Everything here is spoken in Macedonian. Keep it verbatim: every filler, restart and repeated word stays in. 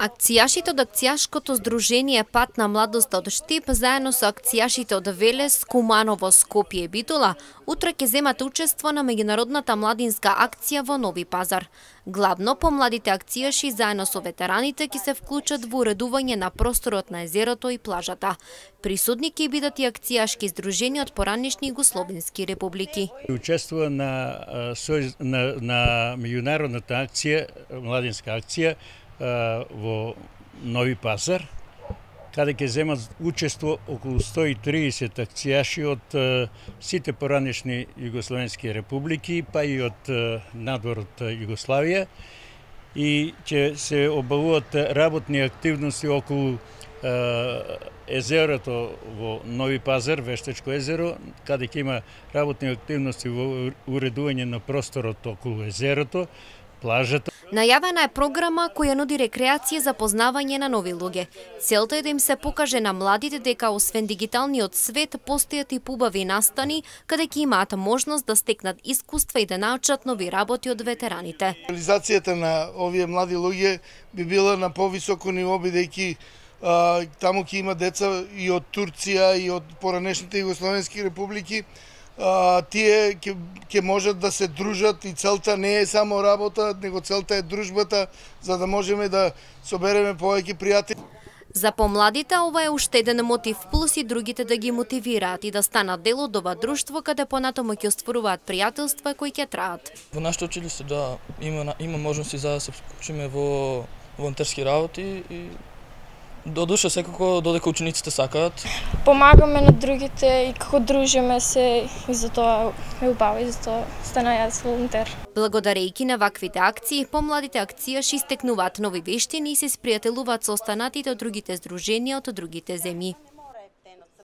Акцијашите од акцијашкото здружение Пат на младоста од Штип заедно со акцијашите од Велес, Куманово, Скопје и Битола утре ќе земат учество на меѓународната младинска акција во Нови Пазар. Главно помладите акцијаши заедно со ветераните ќе се вклучат во уредување на просторот на езерото и плажата. Присутни ќе бидат и акцијашки здруженија од поранешни југословенски републики. Учествува на на, на меѓународната акција, младинска акција во Нови Пазар, каде ќе земат учество околу сто и триесет акцијаши од сите поранешни југословенски републики, па и од надвор од Југославија, и ќе се обавуваат работни активности околу езерото во Нови Пазар, Вештачко езеро, каде ќе има работни активности во уредување на просторот околу езерото, плажата. Најавена е програма која нуди рекреација за познавање на нови луѓе. Целта е да им се покаже на младите дека освен дигиталниот свет постојат и побави настани каде ќе имаат можност да стекнат искуства и да научат нови работи од ветераните. Реализацијата на овие млади луѓе би била на повисоко ниво, бидејќи таму ќе има деца и од Турција и од поранешните југословенски републики. Uh, тие ќе, ќе можат да се дружат и целта не е само работа, него целта е дружбата, за да можеме да собереме повеќе пријатели. За помладите ова е уште еден мотив плюс и другите да ги мотивираат и да станат дел од ова друштво каде понатаму ќе остваруваат пријателства кои ќе траат. Во нашето училиште да има има можности за да се вклучиме во волонтерски работи и до душа секако додека учениците сакаат. Помагаме на другите и како дружиме се и за тоа е убаво и за тоа стана јас волонтер. Благодарејќи на ваквите акции, помладите акцијаши стекнуваат нови вештини и се спријателуваат со останатите од другите здруженија од другите земји.